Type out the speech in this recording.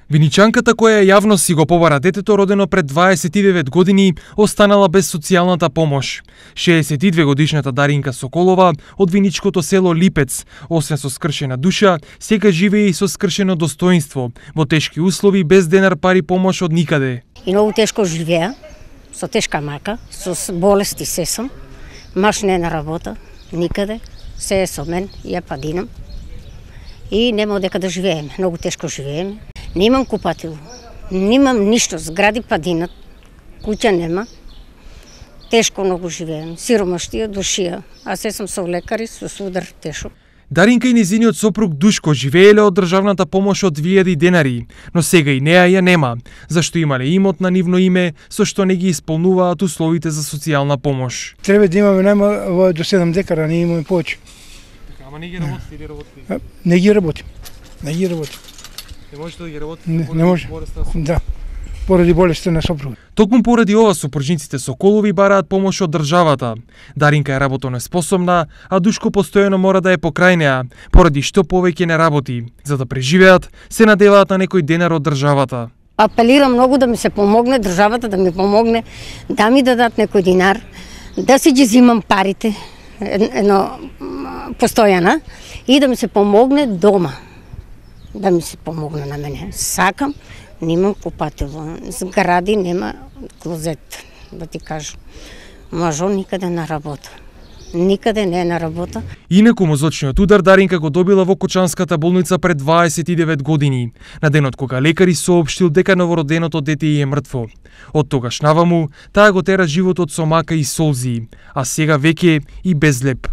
Виничанката која јавно си го побара детето родено пред 29 години останала без социјалната помош. 62 годишната Даринка Соколова од виничкото село Липец, освен со скршена душа, сега живее и со скршено достоинство, во тешки услови без денар пари помош од никаде. И многу тешко живеа, со тешка мака, со болести се сум. Маш не на работа, никаде, се е со мен, ја падинам. И нема одека да живееме, многу тешко живееме. Немам купатил, немам ништо, згради падинат, куќа нема. Тешко многу живеем, сиромаштија, душија, а се сум со лекари, со судар тешок. Даринка и незиниот сопруг Душко живееле од државната помош од 2000 денари, но сега и неа ја нема, зашто имале имот на нивно име, со што не ги исполнуваат условите за социјална помош. Треба да имаме најмало до 7 декара, не имаме повеќе. Ама не ги работите или работите? Не ги работим. Не ги работим. Не можете да ги работите? Не може. Да. Поради болеста на сопруга. Токму поради ова сопружниците Соколови бараат помош од државата. Даринка е работонеспособна, а Душко постојано мора да е покрај неа, поради што повеќе не работи. За да преживеат, се надеваат на некој денар од државата. Апелирам многу да ми се помогне, државата да ми помогне, да ми дадат некој динар, да си ги зимам парите, едно постојана, и да ми се помогне дома. Да ми се помогне на мене. Сакам, немам купатило, згради нема клозет, да ти кажам. Мажо никаде на работа. Никаде не е на работа. Инаку мозочниот удар Даринка го добила во Кочанската болница пред 29 години, на денот кога лекари соопштил дека новороденото дете е мртво. Од тогаш наваму, таа го тера животот со мака и солзи, а сега веќе и без леп.